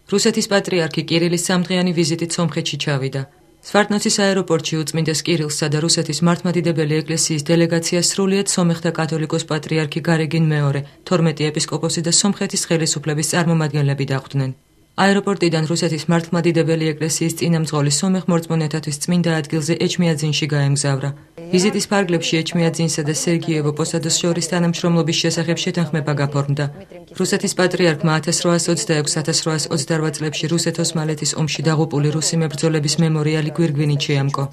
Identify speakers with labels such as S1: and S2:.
S1: რუსეთის პატრიარქი კირილის სამდღიანი ვიზიტით სომხეთში ჩავიდა. სვარტნოცის აეროპორტში უწმინდეს კირილსსა და რუსეთის მართლმადიდებელი ეკლესიის დელეგაციას სრულიად სომეხთა კათოლიკოს პატრიარქი გარეგინ მეორე, 12 ეპისკოპოსი და სომხეთის ხელისუფლების წარმომადგენლები დახვდნენ. აეროპორტიდან რუსეთის მართლმადიდებელი ეკლესიის წინამძღოლი სომეხ მორწმუნეთათვის წმინდა ადგილზე ეჩმიაძინში გაემგზავრა. ვიზიტის ფარგლებში ეჩმიაძინსა და სერგიევო პოსადოს შორის თანამშრომლობის შესახებ შეთანხმება გაფორმდა. რუსეთის პატრიარქმა 1826-1828 წლებში რუსეთ-ოსმალეთის ომში დაღუპული რუსი მებრძოლების მემორიალი გვირგვინით შეამკო.